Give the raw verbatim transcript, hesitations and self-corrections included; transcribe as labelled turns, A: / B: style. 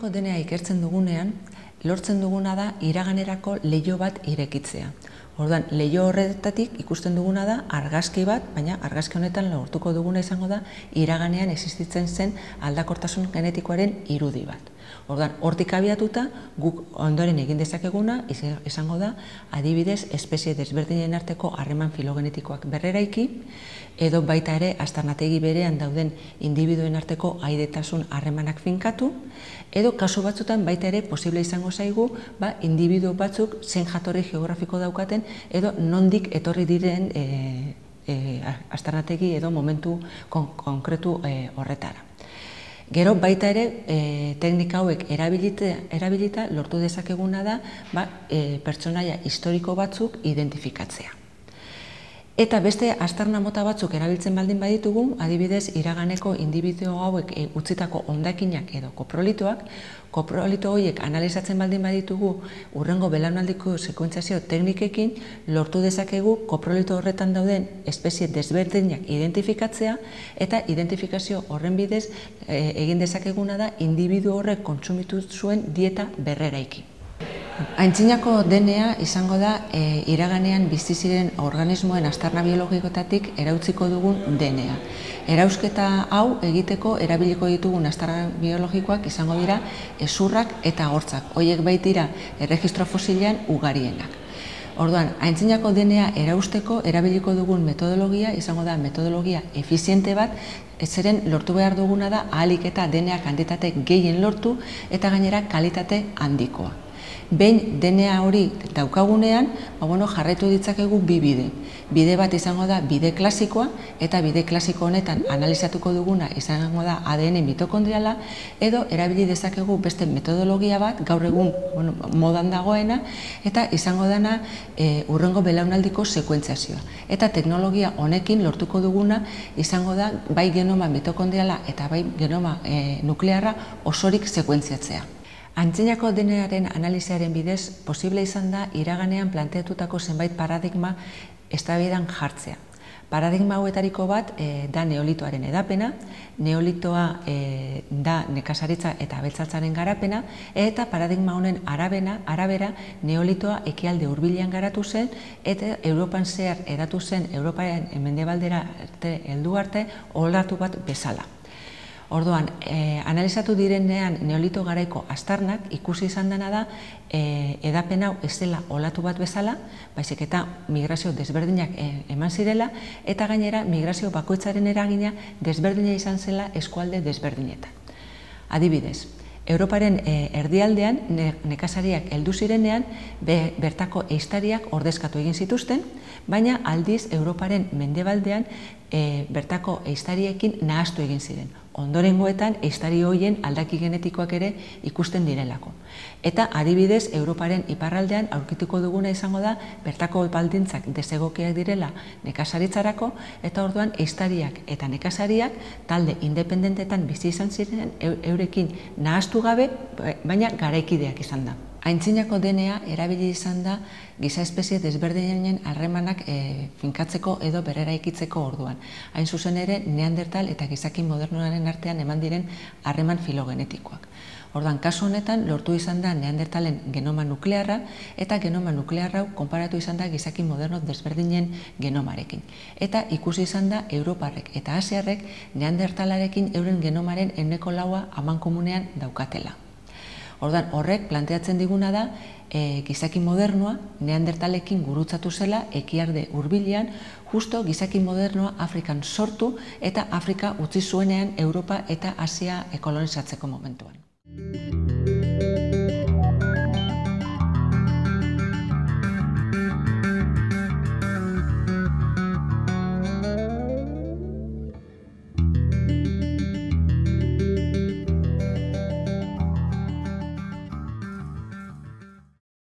A: Antzinako D N A ikertzen dugunean, lortzen duguna da iraganerako leiho bat irekitzea. Orduan, leiho horretatik ikusten duguna da argazki bat, baina argazki honetan lortuko duguna izango da iraganean existitzen zen aldakortasun genetikoaren irudi bat. Orduan, hortik abiatuta, guk ondoren egin dezakeguna izango da adibidez espezie desberdinen arteko harreman filogenetikoak berreraiki, edo baita ere aztarnategi berean dauden individuen arteko aidetasun harremanak finkatu, edo kasu batzutan baita ere posible izango zaigu ba, individu batzuk zein jatorri geografiko daukaten edo nondik etorri diren e, e, aztarnategi edo momentu kon, konkretu e, horretara. Gero baita ere e, teknika hauek erabilita, erabilita lortu dezakeguna da ba, e, pertsonaia historiko batzuk identifikatzea. Eta beste aztarna mota batzuk erabiltzen baldin baditugu, adibidez iraganeko indibidu hauek e, utzitako hondakinak edo koprolitoak, koprolito horiek analizatzen baldin baditugu hurrengo belaunaldiko sekuentziazio teknikekin lortu dezakegu koprolito horretan dauden espezie desberdinak identifikatzea eta identifikazio horren bidez e, egin dezakeguna da indibidu horrek kontsumitu zuen dieta berreraiki. Antzinako D N A izango da e, iraganean bizi ziren organismoen aztarna biologikoetatik erautziko dugun D N A. Erausketa hau egiteko erabiliko ditugun aztarna biologikoak izango dira hezurrak eta hortzak. Horiek baitira erregistro fosilean ugarienak. Orduan, antzinako D N A erausteko erabiliko dugun metodologia izango da metodologia efiziente bat, zeren lortu behar duguna da ahalik eta D N A kantitate gehien lortu eta gainera kalitate handikoa. Behin D N A hori daukagunean, ba, bueno, jarraitu ditzakegu bi bide. Bide bat izango da bide klasikoa, eta bide klasiko honetan analizatuko duguna izango da A D N mitokondriala, edo erabili dezakegu beste metodologia bat, gaur egun bueno, modan dagoena, eta izango dana e, hurrengo belaunaldiko sekuentziazioa. Eta teknologia honekin lortuko duguna izango da bai genoma mitokondriala eta bai genoma e, nuklearra osorik sekuentziatzea. Antzinako D N A-ren analiziaren bidez, posible izan da iraganean planteatutako zenbait paradigma eztabaidan jartzea. Paradigma hauetariko bat e, da neolitoaren edapena, neolitoa e, da nekazaritza eta abeltzatzaren garapena, eta paradigma honen arabena, arabera neolitoa ekialde hurbilean garatu zen, eta Europan zehar edatu zen Europaren mendebaldera heldu arte olatu bat bezala. Orduan, eh, analizatu direnean neolito garaiko aztarnak ikusi izan dena da eh, edapen hau ez dela olatu bat bezala, baizik eta migrazio desberdinak eh, eman zirela, eta gainera migrazio bakoitzaren eragina desberdina izan zela eskualde desberdinetan. Adibidez, Europaren eh, erdialdean ne, nekazariak heldu zirenean be, bertako ehiztariak ordezkatu egin zituzten, baina aldiz Europaren mendebaldean e, bertako ehiztariekin nahastu egin ziren. Ondorengoetan ehiztari horien aldaki genetikoak ere ikusten direlako. Eta adibidez Europaren iparraldean aurkituko duguna izango da bertako baldintzak desegokiak direla nekazaritzarako, eta orduan ehiztariak eta nekazariak talde independentetan bizi izan ziren eurekin nahastu gabe, baina garaikideak izan da. Antzinako D N A erabili izan da giza espezie desberdinen harremanak e, finkatzeko edo berreraikitzeko orduan. Hain zuzen ere, Neandertal eta gizaki modernoaren artean eman diren harreman filogenetikoak. Orduan, kasu honetan, lortu izan da Neandertalen genoma nuklearra, eta genoma nuklearra konparatu izan da gizaki moderno desberdinen genomarekin. Eta ikusi izan da Europarrek eta Asiarrek Neandertalarekin euren genomaren ehuneko laua amankomunean daukatela. Orduan, horrek planteatzen diguna da e, gizaki modernoa Neandertalekin gurutzatu zela ekialde hurbilean, justo gizaki modernoa Afrikan sortu eta Afrika utzi zuenean Europa eta Asia kolonizatzeko momentuan.